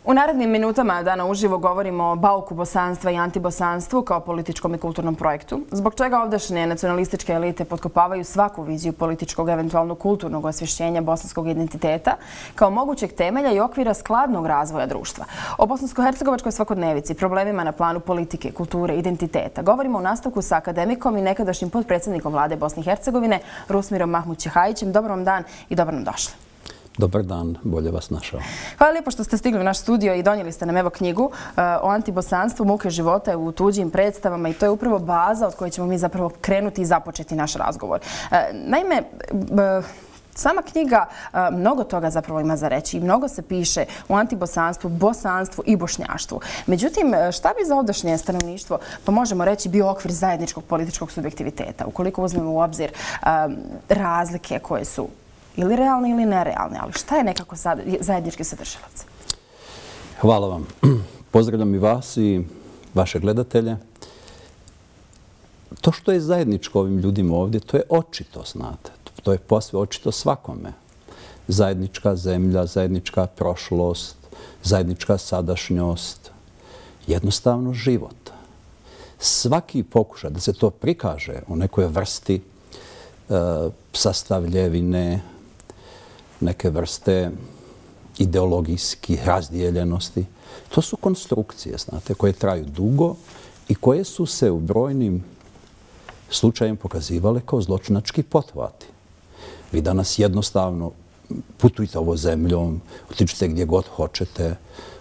U narednim minutama dana uživo govorimo o bauku bosanstva i antibosanstvu kao političkom i kulturnom projektu, zbog čega ovdašnje nacionalističke elite potkopavaju svaku viziju političkog, eventualno kulturnog osvješćenja bosanskog identiteta kao mogućeg temelja i okvira skladnog razvoja društva. O bosansko-hercegovačkoj svakodnevici, problemima na planu politike, kulture, identiteta govorimo u nastavku sa akademikom i nekadašnjim potpredsjednikom vlade Bosne i Hercegovine Rusmirom Mahmut-Ćehajićem. Dobar vam dan i dobro nam došli. Dobar dan, bolje vas našao. Hvala lijepo što ste stigli u naš studio i donijeli ste nam evo knjigu o antibosanstvu, muke života u tuđim predstavama i to je upravo baza od koje ćemo mi zapravo krenuti i započeti naš razgovor. Naime, sama knjiga mnogo toga zapravo ima za reći i mnogo se piše o antibosanstvu, bosanstvu i bošnjaštvu. Međutim, šta bi za ovdašnje stanovništvo, pa možemo reći, bio okvir zajedničkog političkog subjektiviteta, ukoliko uzmemo u obzir razlike koje su ili realne ili nerealne, ali šta je nekako zajednički sadržavac? Hvala vam. Pozdravljam i vas i vaše gledatelje. To što je zajedničko ovim ljudima ovdje, to je očito, znate. To je posve očito svakome. Zajednička zemlja, zajednička prošlost, zajednička sadašnjost, jednostavno život. Svaki pokušaj da se to prikaže u nekoj vrsti sastavljevine, neke vrste ideologijskih razdijeljenosti. To su konstrukcije, znate, koje traju dugo i koje su se u brojnim slučajima pokazivale kao zločinački pothvati. Vi danas jednostavno putujte ovo zemljom, otičite gdje god hoćete,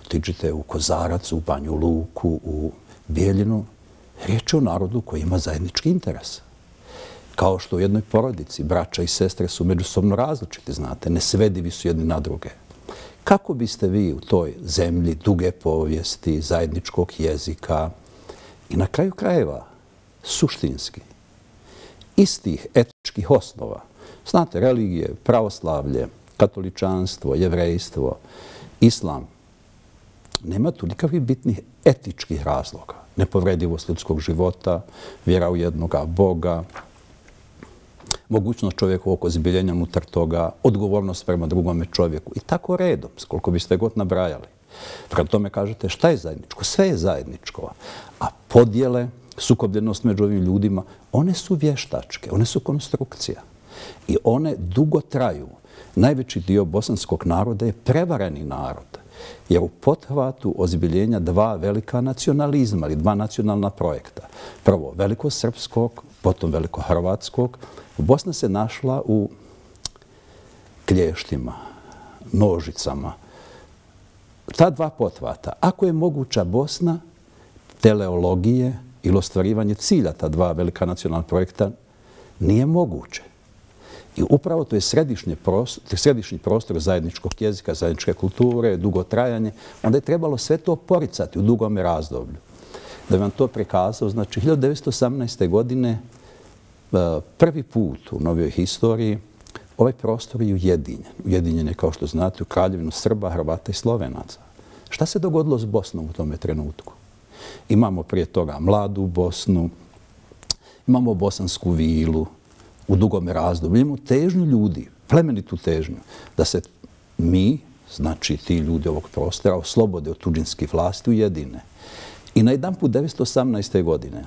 otičite u Kozarac, u Banju Luku, u Bijeljinu. Riječ je o narodu koji ima zajednički interes. Kao što u jednoj porodici braća i sestre su međusobno različiti, znate, nesvedivi su jedni na druge. Kako biste vi u toj zemlji duge povijesti, zajedničkog jezika i na kraju krajeva suštinski istih etičkih osnova, znate, religije, pravoslavlje, katoličanstvo, jevrejstvo, islam, nema tu nikakvih bitnih etičkih razloga. Nepovredivost ljudskog života, vjera u jednoga Boga, mogućnost čovjekovog ozbiljenja unutar toga, odgovornost prema drugome čovjeku i tako redom, koliko biste god nabrajali. Prema tome kažete šta je zajedničko? Sve je zajedničko. A podjele, sukobljenost među ovim ljudima, one su vještačke, one su konstrukcija. I one dugo traju. Najveći dio bosanskog naroda je prevareni narod. Jer u pothvatu ozbiljenja dva velika nacionalizma ili dva nacionalna projekta. Prvo velikosrpskog, potom velikohrvatskog. Bosna se našla u klještima, nožicama. Ta dva pothvata, ako je moguća Bosna, teleologije ili ostvarivanje cilja ta dva velika nacionalna projekta, nije moguće. I upravo to je središnji prostor zajedničkog jezika, zajedničke kulture, dugotrajanje. Onda je trebalo sve to poricati u dugome razdoblju. Da bi vam to prikazao, znači 1918. godine prvi put u novijoj historiji ovaj prostor je ujedinjen. Ujedinjen je, kao što znate, u Kraljevinu Srba, Hrvata i Slovenaca. Šta se dogodilo s Bosnom u tome trenutku? Imamo prije toga mladu Bosnu, imamo bosansku vilu, u dugome razdoblju. Imamo težnju ljudi, plemenitu težnju, da se mi, znači ti ljudi ovog prostora, oslobode od tuđinskih vlasti, ujedine. I na jedan put 1918. godine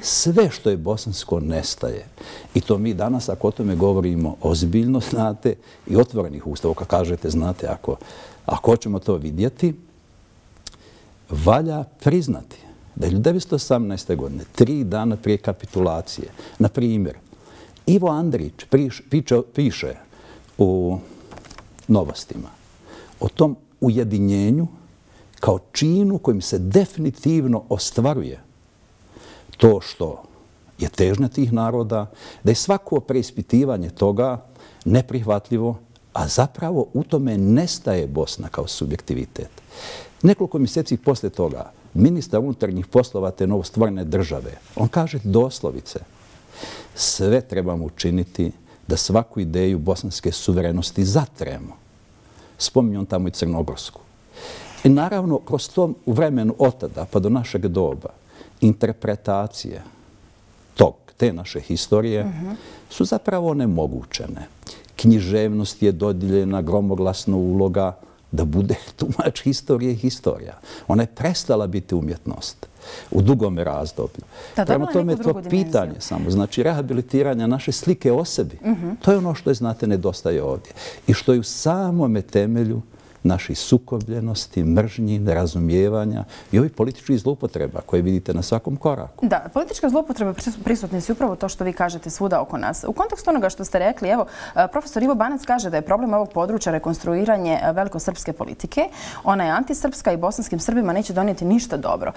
sve što je bosansko nestaje. I to mi danas, ako o tome govorimo ozbiljno, znate, i otvorenih ustava, kako kažete, znate, ako hoćemo to vidjeti, valja priznati da je 1918. godine, 3 dana prije kapitulacije, na primjer, Ivo Andrić piše u Novostima o tom ujedinjenju kao činu kojim se definitivno ostvaruje to što je težnja tih naroda, da je svako preispitivanje toga neprihvatljivo, a zapravo u tome nestaje Bosna kao subjektivitet. Nekoliko mjeseci poslije toga ministar unutarnjih poslova te novostvorene države, on kaže doslovice: sve trebamo učiniti da svaku ideju bosanske suverenosti zatremo. Spominje on tamo i Crnogorsku. I naravno, kroz to u vremenu od tada pa do našeg doba, interpretacije te naše historije su zapravo onemogućene. Književnost je dodijeljena, gromoglasna uloga da bude tumač historije i historija. Ona je prestala biti umjetnost u dugome razdoblju. Prema tome je to pitanje samo. Znači, rehabilitiranja naše slike o sebi. To je ono što je, znate, nedostaje ovdje. I što je u samome temelju naših sukobljenosti, mržnji, nerazumijevanja i ovih političkih zloupotreba koje vidite na svakom koraku. Da, političke zloupotrebe prisutne su upravo to što vi kažete svuda oko nas. U kontekstu onoga što ste rekli, evo, profesor Ivo Banac kaže da je problem ovog područja rekonstruiranje velikosrpske politike. Ona je antisrpska i bosanskim Srbima neće donijeti ništa dobro.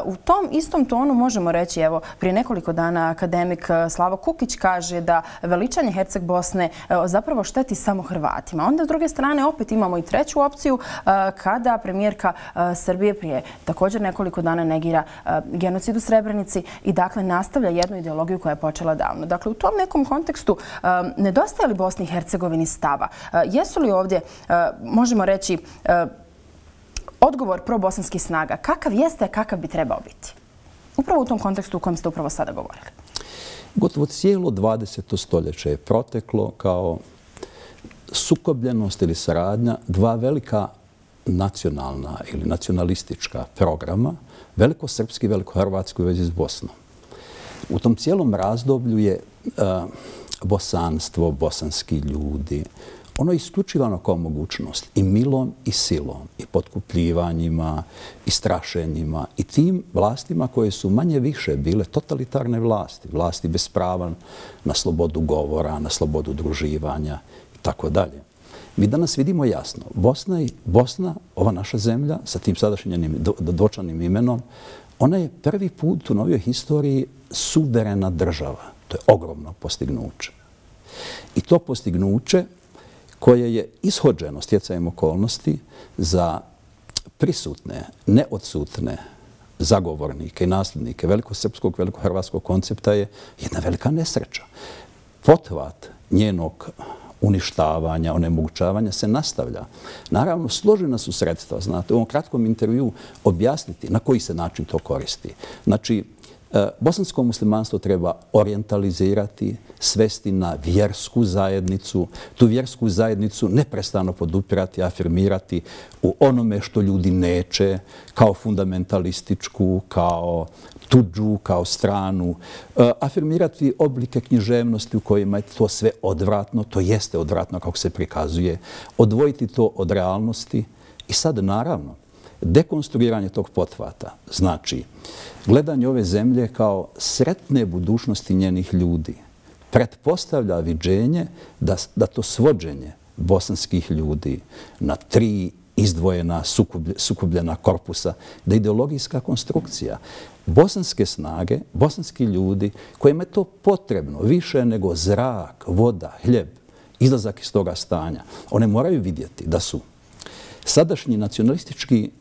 U tom istom tonu možemo reći, evo, prije nekoliko dana akademik Slavo Kukić kaže da veličanje Herceg Bosne zapravo šteti samo Hrvatima. Onda, s druge strane, opet imamo i treću opciju kada premijerka Srbije prije također nekoliko dana negira genocid u Srebrenici i dakle nastavlja jednu ideologiju koja je počela davno. Dakle, u tom nekom kontekstu nedostaje li Bosni i Hercegovini stava? Jesu li ovdje, možemo reći, odgovor probosanskih snaga? Kakav jeste, kakav bi trebao biti? Upravo u tom kontekstu u kojem ste upravo sada govorili. Gotovo cijelo 20. stoljeće je proteklo kao sukobljenost ili saradnja dva velika nacionalna ili nacionalistička programa, velikosrpski i velikohrvatski u vezi s Bosnom. U tom cijelom razdoblju je bosanstvo, bosanski ljudi, ono je isključivano kao mogućnost i milom i silom, i potkupljivanjima, i strašenjima, i tim vlastima koje su manje više bile totalitarne vlasti, vlasti bez prava na slobodu govora, na slobodu udruživanja, tako dalje. Mi danas vidimo jasno, Bosna, ova naša zemlja, sa tim sadašnjim dočanim imenom, ona je prvi put u novijoj historiji suverena država. To je ogromno postignuće. I to postignuće koje je ishođeno stjecajem okolnosti za prisutne, neodsutne zagovornike i nasljednike velikosrpskog, velikohrvatskog koncepta je jedna velika nesreća. Pothvat njenog uništavanja, onemogućavanja se nastavlja. Naravno, složena su sredstva, znate, u ovom kratkom intervju objasniti na koji se način to koristi. Znači, bosansko muslimanstvo treba orijentalizirati, svesti na vjersku zajednicu, tu vjersku zajednicu neprestano podupirati, afirmirati u onome što ljudi neće, kao fundamentalističku, kao tuđu, kao stranu, afirmirati oblike književnosti u kojima je to sve odvratno, to jeste odvratno kako se prikazuje, odvojiti to od realnosti i sad naravno dekonstruiranje tog pothvata, znači gledanje ove zemlje kao sretne budućnosti njenih ljudi, pretpostavlja viđenje da to svođenje bosanskih ljudi na tri izdvojena, sukobljena korpusa, da je ideologijska konstrukcija. Bosanske snage, bosanski ljudi kojima je to potrebno više nego zrak, voda, hljeb, izlazak iz toga stanja, one moraju vidjeti da su sadašnji nacionalistički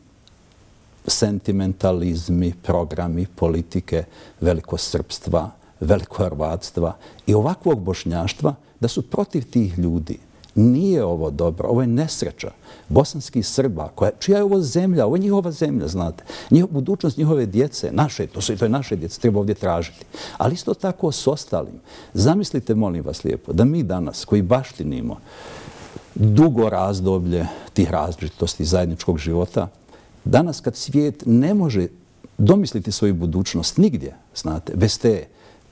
sentimentalizmi, programi, politike velikosrpstva, velikohrvatstva i ovakvog bošnjaštva da su protiv tih ljudi. Nije ovo dobro, ovo je nesreća bosanskih Srba, čija je ovo zemlja, ovo je njihova zemlja, znate. Budućnost njihove djece, naše, to je naše djece, treba ovdje tražiti. Ali isto tako s ostalim. Zamislite, molim vas lijepo, da mi danas, koji baštinimo dugo razdoblje tih različitosti zajedničkog života, danas kad svijet ne može domisliti svoju budućnost nigdje, znate, bez te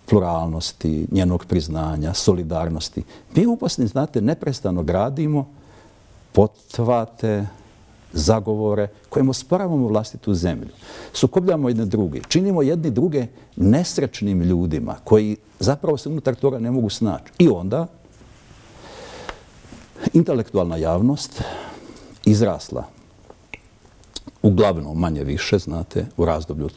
pluralnosti, njenog priznanja, solidarnosti, mi u Bosni, znate, neprestano gradimo pothvate, zagovore kojim osporavamo vlastitu zemlju. Sukobljamo jedne druge, činimo jedni druge nesrećnim ljudima koji zapravo se unutar toga ne mogu snaći. I onda intelektualna javnost izrasla uglavnom manje više, znate, u razdoblju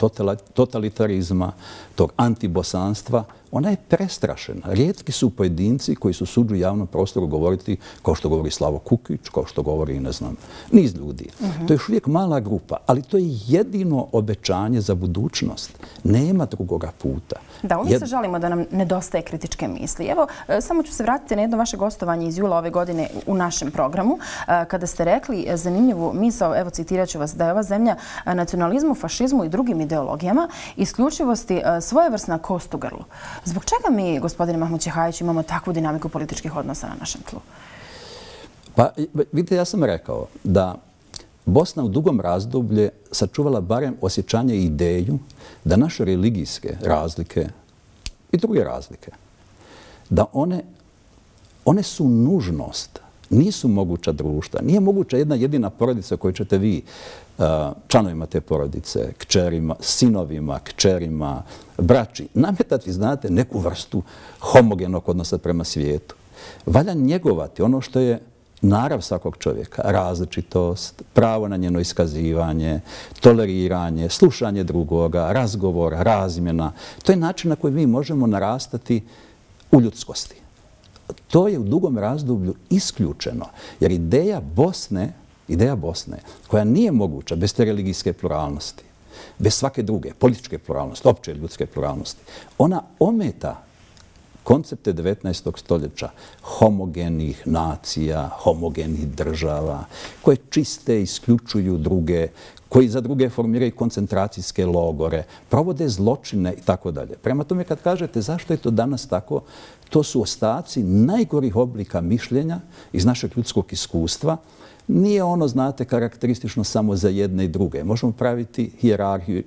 totalitarizma, tog antibosanstva, ona je prestrašena. Rijetki su pojedinci koji su suđu javnom prostoru govoriti kao što govori Slavo Kukić, kao što govori, ne znam, niz ljudi. To je još uvijek mala grupa, ali to je jedino obećanje za budućnost. Nema drugoga puta. Da, uvijek se žalimo da nam nedostaje kritičke misli. Evo, samo ću se vratiti na jedno vaše gostovanje iz jula ove godine u našem programu, kada ste rekli zanimljivu misao, evo citirat ću vas, da je ova zemlja nacionalizmu, fašizmu i drugim ideologijama isključivosti svojevrsna kost u grlu. Zbog čega mi, gospodine Mahmud Ćehajić, imamo takvu dinamiku političkih odnosa na našem tlu? Pa vidite, ja sam rekao da Bosna u dugom razdoblju sačuvala barem osjećanje i ideju da naše religijske razlike i druge razlike, da one su nužnost, nisu moguća društva. Nije moguća jedna jedina porodica koju ćete vi članovima te porodice, kćerima, sinovima, kćerima, braći, nametati, znate, neku vrstu homogenog odnosa prema svijetu. Valja njegovati ono što je narav svakog čovjeka, različitost, pravo na njeno iskazivanje, toleriranje, slušanje drugoga, razgovor, razmjena. To je način na koji mi možemo narastati u ljudskosti. To je u dugom razdoblju isključeno, jer ideja Bosne, koja nije moguća bez te religijske pluralnosti, bez svake druge, političke pluralnosti, opće ljudske pluralnosti, ona ometa koncepte 19. stoljeća homogenih nacija, homogenih država, koje čiste, isključuju druge, koji za druge formiraju koncentracijske logore, provode zločine i tako dalje. Prema tome, kad kažete zašto je to danas tako, to su ostaci najgorih oblika mišljenja iz našeg ljudskog iskustva. Nije ono, znate, karakteristično samo za jedne i druge. Možemo praviti hijerarhiju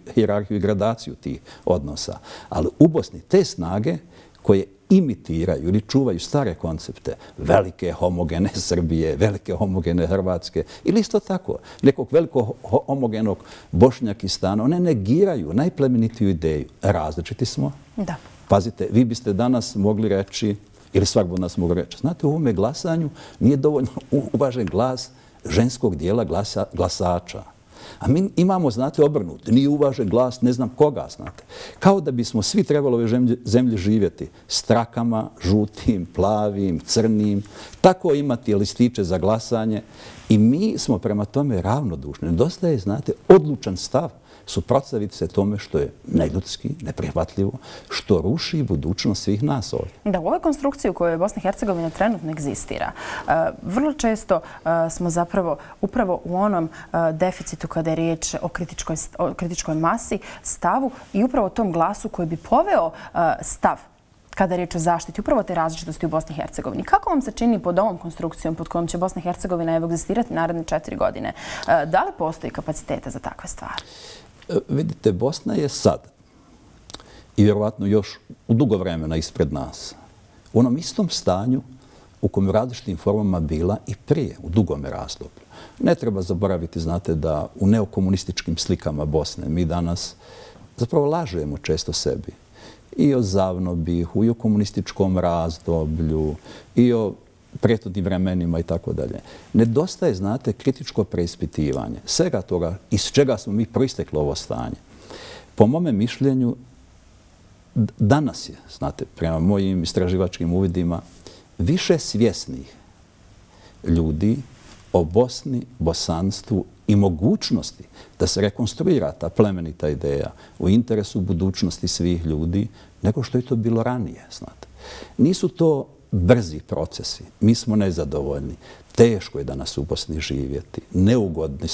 i gradaciju tih odnosa. Ali u Bosni te snage koje imitiraju ili čuvaju stare koncepte, velike homogene Srbije, velike homogene Hrvatske, ili isto tako, nekog velikog homogenog Bošnjakistana, one negiraju najplemenitiju ideju. Različiti smo. Da. Pazite, vi biste danas mogli reći, ili svak od nas mogli reći, znate, u ovome glasanju nije dovoljno uvažen glas ženskog dijela glasača. A mi imamo, znate, obrnuti. Nije uvažen glas ne znam koga, znate. Kao da bismo svi trebali ove zemlje živjeti s trakama, žutim, plavim, crnim, tako imati listiće za glasanje. I mi smo prema tome ravnodušni. Nedostaje, znate, odlučan stav suprotstaviti se tome što je neljudski, neprihvatljivo, što ruši budućnost svih nas ovdje. Da, u ovoj konstrukciji u kojoj Bosna i Hercegovina trenutno egzistira, vrlo često smo zapravo upravo u onom deficitu kada je riječ o kritičkoj masi, stavu i upravo tom glasu koji bi poveo stav kada je riječ o zaštiti upravo te različitosti u Bosni i Hercegovini. Kako vam se čini pod ovom konstrukcijom pod kojom će Bosna i Hercegovina egzistirati naredne 4 godine? Da li postoji kapaciteta za takve stvari? Vidite, Bosna je sad i vjerovatno još u dugo vremena ispred nas u onom istom stanju u kojem različitim formama bila i prije, u dugome razdoblju. Ne treba zaboraviti, znate, da u neokomunističkim slikama Bosne mi danas zapravo lažemo često sebi i o Zavnobihu, i o komunističkom razdoblju, i o prethodnim vremenima i tako dalje. Nedostaje, znate, kritičko preispitivanje svega toga iz čega smo mi proistekli ovo stanje. Po mome mišljenju, danas je, znate, prema mojim istraživačkim uvidima, više svjesnih ljudi o Bosni, bosanstvu i mogućnosti da se rekonstruira ta plemenita ideja u interesu budućnosti svih ljudi, nego što je to bilo ranije, znate. Nisu to brzi procesi. Mi smo nezadovoljni. Teško je danas u Bosni živjeti. Neugodni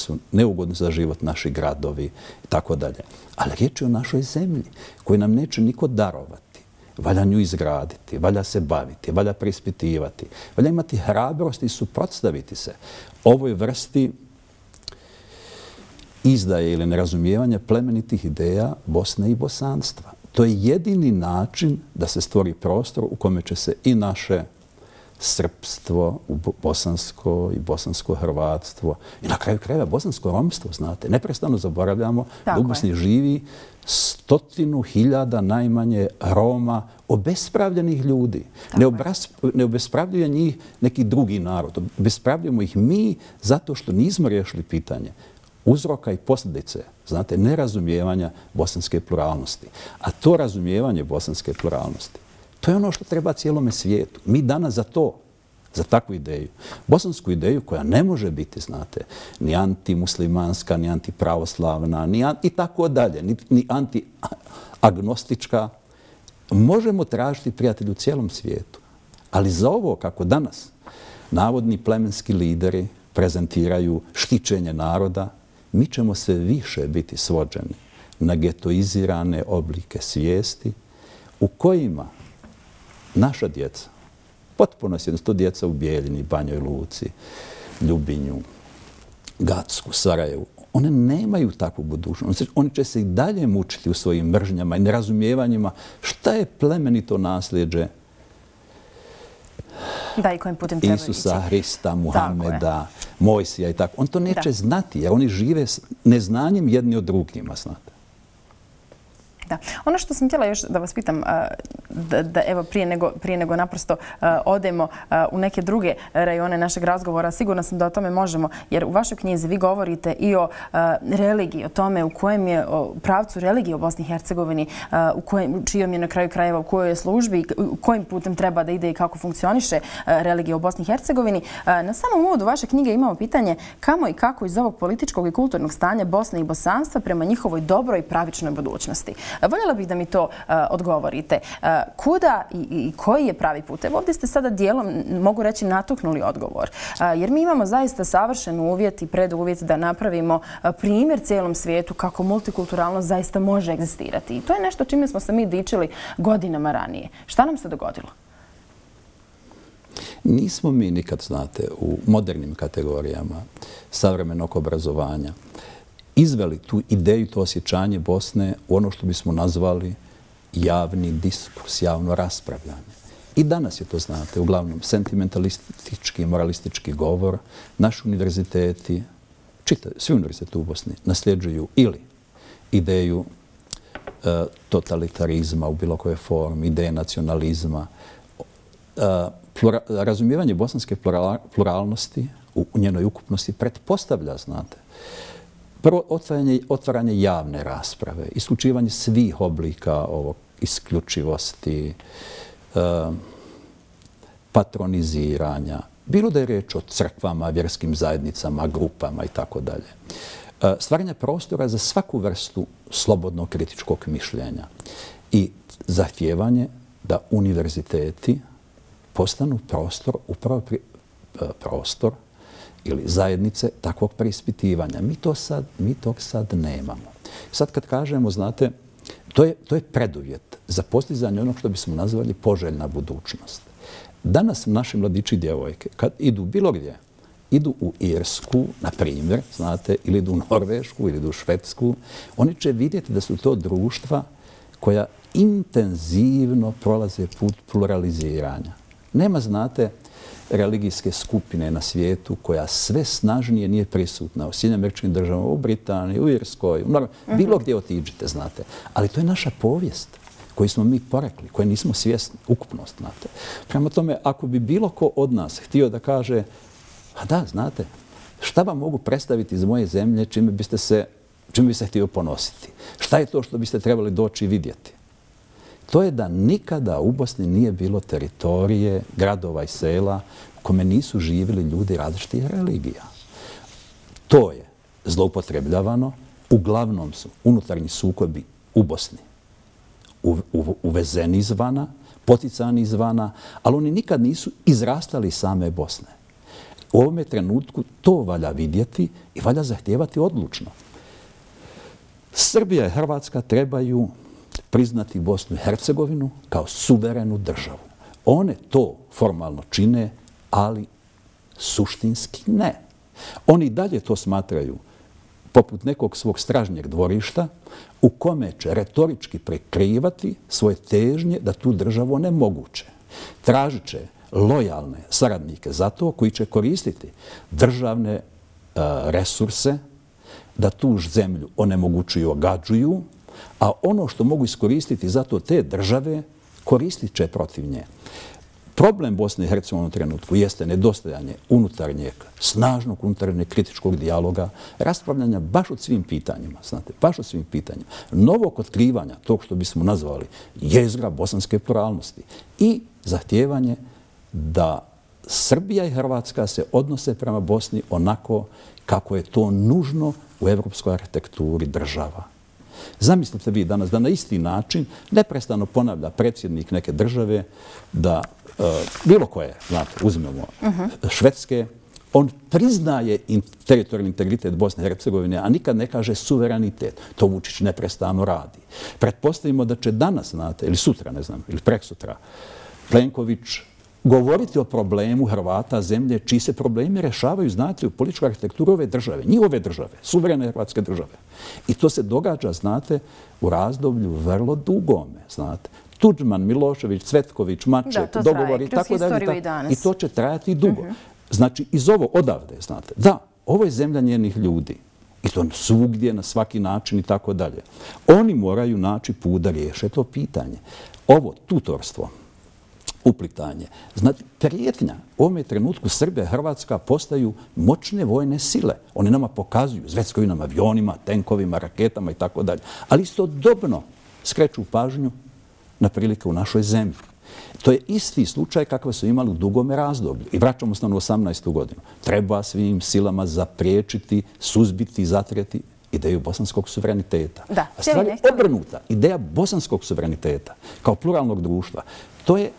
su za život naši gradovi i tako dalje. Ali riječ je o našoj zemlji koju nam neće niko darovati. Valja nju izgraditi, valja se baviti, valja preispitivati, valja imati hrabrost i suprotstaviti se ovoj vrsti izdaje ili nerazumijevanja plemenitih ideja Bosne i bosanstva. To je jedini način da se stvori prostor u kome će se i naše srpstvo, bosansko i bosansko-hrvatstvo i na kraju krajeva bosansko-romstvo, znate. Neprestano zaboravljamo da u Bosni živi 100.000 najmanje Roma, obespravljenih ljudi. Ne obespravljuje njih neki drugi narod. Obespravljujemo ih mi zato što nismo riješili pitanje uzroka i posljedice, znate, nerazumijevanja bosanske pluralnosti. A to razumijevanje bosanske pluralnosti, to je ono što treba cijelome svijetu. Mi danas za to, za takvu ideju, bosansku ideju koja ne može biti, znate, ni antimuslimanska, ni antipravoslavna, ni i tako dalje, ni antiagnostička, možemo tražiti prijatelji u cijelom svijetu. Ali za ovo, kako danas navodni plemenski lideri prezentiraju štićenje naroda, mi ćemo sve više biti svođeni na getoizirane oblike svijesti u kojima naša djeca, Potpuno je to djeca u Bijeljini, Banjoj Luci, Ljubinju, Gacku, Sarajevu. One nemaju takvu budućnost. Oni će se i dalje mučiti u svojim mržnjama i nerazumijevanjima šta je plemenito nasljeđe Isusa, Hrista, Muhameda, Mojsija i tako. On to neće znati jer oni žive neznanjem jedni od drugima, znate. Da. Ono što sam htjela još da vas pitam, da evo prije nego naprosto odemo u neke druge rajone našeg razgovora, sigurno sam da o tome možemo, jer u vašoj knjizi vi govorite i o religiji, o tome u kojem je pravcu religije u Bosni i Hercegovini, čijom je na kraju krajeva, u kojoj je službi, kojim putem treba da ide i kako funkcioniše religija u Bosni i Hercegovini. Na samom uvodu vaše knjige imamo pitanje kamo i kako iz ovog političkog i kulturnog stanja Bosne i bosanstva prema njihovoj dobroj i pravičnoj budućnosti. Voljela bih da mi to odgovorite. Kuda i koji je pravi put? Evo ovdje ste sada dijelom, mogu reći, natuknuli odgovor. Jer mi imamo zaista savršen uvjet i preduvjet da napravimo primjer cijelom svijetu kako multikulturalnost zaista može egzistirati. I to je nešto čime smo se mi dičili godinama ranije. Šta nam se dogodilo? Nismo mi nikad, znate, u modernim kategorijama savremenog obrazovanja izveli tu ideju, to osjećanje Bosne u ono što bismo nazvali javni diskurs, javno raspravljanje. I danas je to, znate, uglavnom sentimentalistički, moralistički govor. Naši univerziteti, svi univerziteti u Bosni, nasljeđuju ili ideju totalitarizma u bilo koje formi, ideje nacionalizma. Razumijevanje bosanske pluralnosti u njenoj ukupnosti pretpostavlja, znate, prvo, otvaranje javne rasprave, isključivanje svih oblika isključivosti, patroniziranja, bilo da je riječ o crkvama, vjerskim zajednicama, grupama i tako dalje. Stvaranje prostora za svaku vrstu slobodnog kritičkog mišljenja i zahtijevanje da univerziteti postanu prostor ili zajednice takvog preispitivanja. Mi to sad nemamo. Sad kad kažemo, znate, to je preduvjet za postizanje onog što bismo nazvali poželjna budućnost. Danas naši mladići i djevojke, kad idu bilo gdje, idu u Irsku, na primjer, znate, ili idu u Norvešku, ili idu u Švedsku, oni će vidjeti da su to društva koja intenzivno prolaze put pluraliziranja. Nema, znate, religijske skupine na svijetu koja sve snažnije nije prisutna u Sjedinjenim Američkim Državama, u Britaniji, u Irskoj, bilo gdje otiđite, znate. Ali to je naša povijest koju smo mi porekli, koje nismo svjesni, ukupnost, znate. Prema tome, ako bi bilo ko od nas htio da kaže, a da, znate, šta vam mogu predstaviti iz moje zemlje čime bi se htio ponositi? Šta je to što biste trebali doći i vidjeti? To je da nikada u Bosni nije bilo teritorije, gradova i sela u kome nisu živjeli ljudi različitih religija. To je zloupotrebljavano. Uglavnom su unutarnji sukobi u Bosni uvezeni izvana, poticani izvana, ali oni nikad nisu izrastali iz same Bosne. U ovome trenutku to valja vidjeti i valja zahtijevati odlučno. Srbija i Hrvatska trebaju priznati Bosnu i Hercegovinu kao suverenu državu. One to formalno čine, ali suštinski ne. Oni dalje to smatraju poput nekog svog stražnjeg dvorišta u kome će retorički prekrivati svoje težnje da tu državu onemoguće. Tražit će lojalne saradnike za to koji će koristiti državne resurse da tu zemlju onemogućuju, ogađuju, a ono što mogu iskoristiti zato te države koristit će protiv nje. Problem Bosne i Hercegovine u trenutku jeste nedostajanje unutarnjeg, snažnog unutarnjeg kritičkog dijaloga, raspravljanja baš o svim pitanjima, znate, baš o svim pitanjima, novog otkrivanja tog što bismo nazvali jezgra bosanske pluralnosti i zahtijevanje da Srbija i Hrvatska se odnose prema Bosni onako kako je to nužno u evropskoj arhitekturi država. Zamislite vi danas da na isti način neprestano ponavlja predsjednik neke države da bilo koje, znate, uzmemo Švedske, on priznaje teritorijalni integritet Bosne i Hercegovine, a nikad ne kaže suverenitet. To Vučić neprestano radi. Pretpostavimo da će danas, znate, ili sutra, ne znam, ili preksutra, Plenković govoriti o problemu Hrvata, zemlje, čiji se problemi rešavaju, znate, u političkoj arhitekturi ove države, njihove države, suverene hrvatske države. I to se događa, znate, u razdoblju vrlo dugome, znate. Tudžman, Milošević, Cvetković, Maček, dogovori i tako dalje. I to će trajati dugo. Znači, iz ovo odavde, znate, da, ovo je zemlja njenih ljudi. I to svugdje, na svaki način i tako dalje. Oni moraju naći put da riješe to pitanje. Ovo tutorstvo, uplitanje, znači prijetnja. U ovome trenutku Srbija i Hrvatska postaju moćne vojne sile. Oni nama pokazuju, zveckaju nam avionima, tenkovima, raketama i tako dalje. Ali istodobno skreću pažnju na prilike u našoj zemlji. To je isti slučaj kakav su imali u dugome razdoblju. I vraćamo se na 18. godinu. Treba svim silama zapriječiti, suzbiti, zatreti ideju bosanskog suvereniteta. A stvar je obrnuta. Ideja bosanskog suvereniteta kao pluralnog društva, to je,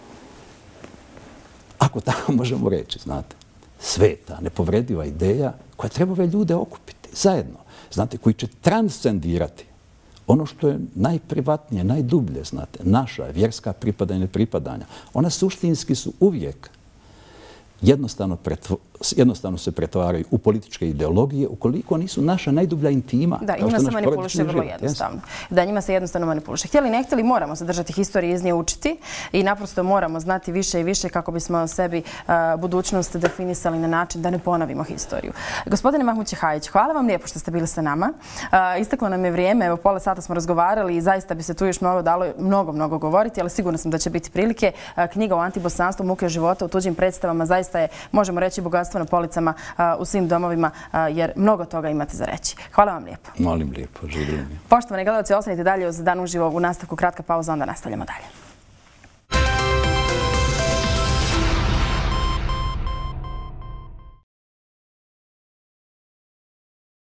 ako tako možemo reći, znate, sveta, nepovrediva ideja koja treba ove ljude okupiti zajedno. Znate, koji će transcendirati ono što je najprivatnije, najdublje, znate, naša vjerska pripadanja i nepripadanja. Ona suštinski su uvijek jednostavno se pretvaraju u političke ideologije ukoliko nisu naša najdublja intima. Da, njima se manipuliše vrlo jednostavno. Da, njima se jednostavno manipuliše. Htjeli ne htjeli, moramo se držati historije, iz nje učiti i naprosto moramo znati više i više kako bismo sebi budućnost definisali na način da ne ponovimo historiju. Gospodine Mahmut Ćehajić, hvala vam lijepo što ste bili sa nama. Isteklo nam je vrijeme, evo pola sata smo razgovarali i zaista bi se tu još mnogo govoriti, ali sigurno sam da će biti prilike. Knjiga o antibosanstvu, muke života u tuđim predstavama zaista je, možemo reći, bogatstvo na policama u svim domovima, jer mnogo toga imate za reći. Hvala vam lijepo. Molim lijepo, živjeli mi. Poštovani gledalci, ostanite dalje uz Dan uživo u nastavku. Kratka pauza, onda nastavljamo dalje.